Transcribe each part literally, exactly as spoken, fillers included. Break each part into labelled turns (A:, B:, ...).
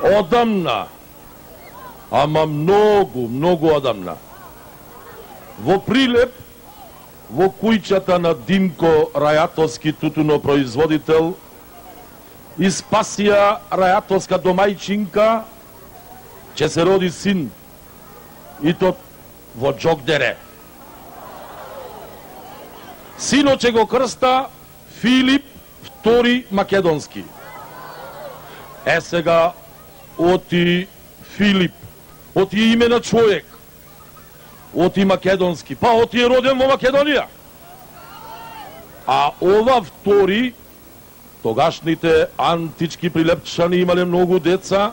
A: Одамна, ама многу, многу одамна, во Прилеп, во кујчата на Димко Рајатовски тутунопроизводител, и Спасија Рајатовска домајчинка, ќе се роди син, и то во Џогдере. Синот ќе го крста Филип втори Македонски. Е сега, оти Филип, оти име на човек, оти Македонски, па оти е роден во Македонија. А ова втори, тогашните антички прилепчани имале многу деца,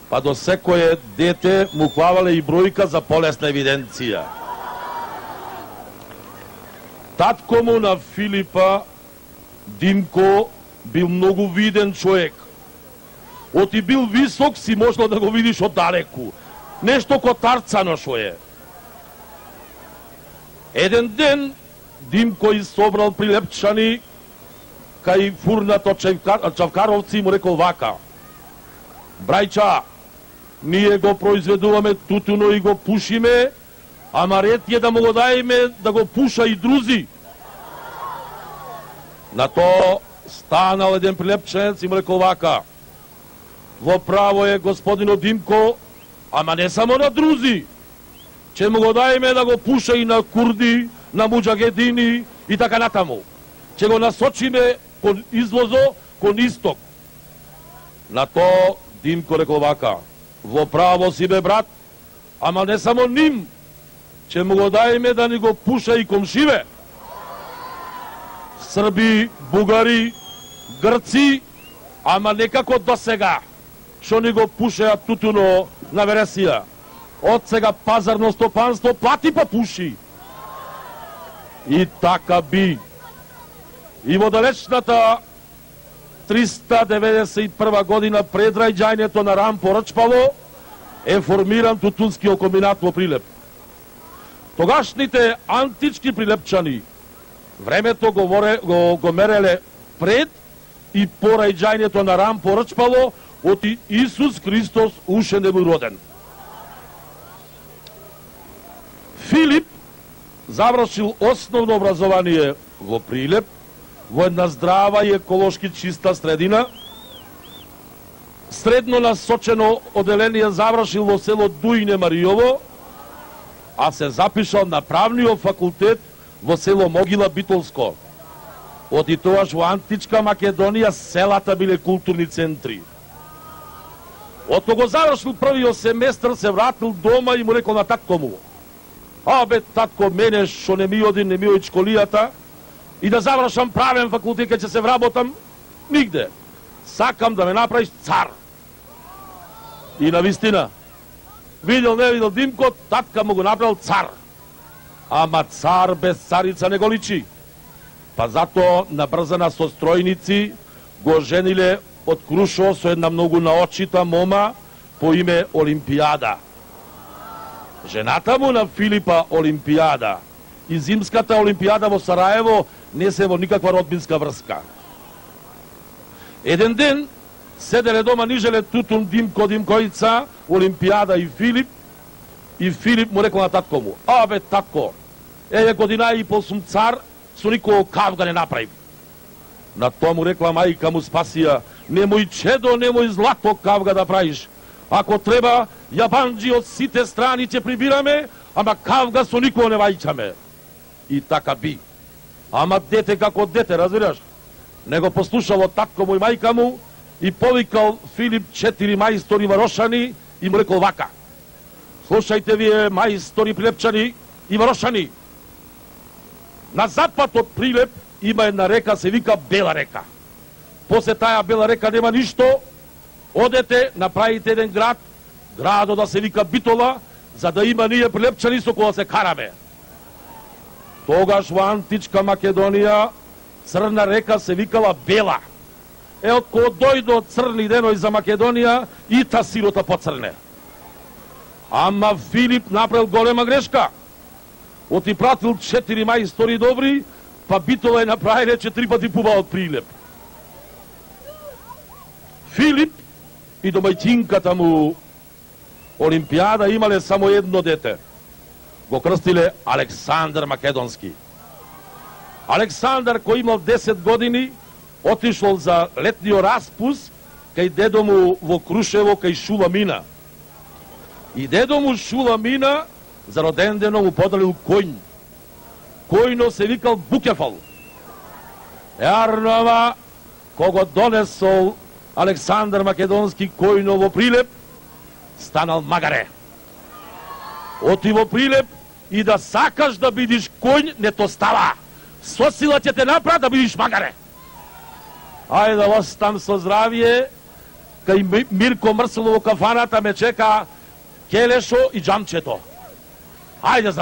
A: па до секое дете му клавале и бројка за полесна евиденција. Татко му на Филипа, Димко, бил многу виден човек. Оти бил висок, си можел да го видиш од далеку. Нешто котарцано шо е. Еден ден Димко собрал прилепчани кај фурнато Чавкаровци и му рекол вака: брајча, ние го произведуваме тутуно и го пушиме, ама ред е да му го дајме да го пуша и друзи. На то станал еден прилепченец и му рекол вака: во право е господино Димко, ама не само на друзи, че му го дајме да го пуша и на курди, на муџагедини и така натаму. Че го насочиме кон извозо, кон исток. На то Димко рекол вака: во право си бе брат, ама не само ним, че му го дајме да ни го пуша и комшиве. Срби, бугари, грци, ама некако до сега, што ни го пушеа тутуно на вересија. Од сега пазарно стопанство плати па пуши. И така би. И во далечната триста деветдесет и прва година пред раѓањето на Рам Порачпало е формиран тутунскиот комбинат во Прилеп. Тогашните антички прилепчани времето го, воре, го, го мереле пред и по раѓањето на Рам Порачпало, оти Исус Христос уште не бил роден. Филип завршил основно образование во Прилеп, во една здрава и еколошки чиста средина. Средно насочено оделение завршил во село Дуине Маријово, а се запишал на правниот факултет во село Могила Битолско. Оти тоаш во античка Македонија селата биле културни центри. Од кога завршил првиот семестар, се вратил дома и му рекол на татко му: а бе, татко, мене шо не ми оди, не ми оди школијата и да завршам правен факултет, ке ќе се вработам, нигде. Сакам да ме направиш цар. И навистина, видел не видел Димко, татка му го направил цар. Ама цар без царица не го личи. Па зато набрзана со стројници го жениле од Крушо со една многу наочита мома по име Олимпијада. Жената му на Филипа Олимпијада и зимската Олимпијада во Сараево не се во никаква родбинска врска. Еден ден седеле дома нижеле тутун Димко, Димкојца, Олимпијада и Филип, и Филип му рекол на татко му: а бе, татко, еве година и пол сум цар, со никој кавга не направив. На тоа му рекла мајка му Спасија: немој чедо, немој злато кавга да правиш. Ако треба, јабанџи од сите страни ќе прибираме, ама кавга со никој не вајчаме. И така би. Ама дете како дете, разбираш? Не го послушало татко му и мајка му и повикал Филип четири мајстори варошани и му рекол вака: слушајте вие мајстори прилепчани и варошани, на запад од Прилеп има една река, се вика Бела река. После таа Бела река нема ништо, одете, направите еден град, градот да се вика Битола, за да има ние прилепчани со која се караме. Тогаш во античка Македонија црна река се викала Бела. Е, од кога дојдо црни деној за Македонија, и та сирота поцрне. Ама Филип направил голема грешка. Оти пратил четири мајстори добри, па Битола е направиле четири пати пуба од Прилеп. Филип и домајчинката му Олимпијада имале само едно дете. Го крстиле Александар Македонски. Александар, кој имал десет години, отишол за летниот распуст кај дедо му во Крушево, кај Шула Мина. И дедо му Шула Мина за роден дено му подарил коњ. Којно се викал Букефал. Јарнова, кого донесол Александар Македонски којно во Прилеп, станал магаре. Оти во Прилеп и да сакаш да бидиш коњ, не то става. Со сила ќе те направи да бидиш магаре. Ајде да остам со здравие, кај Мирко Мрселово кафаната ме чека Келешо и Джамчето. Ајде за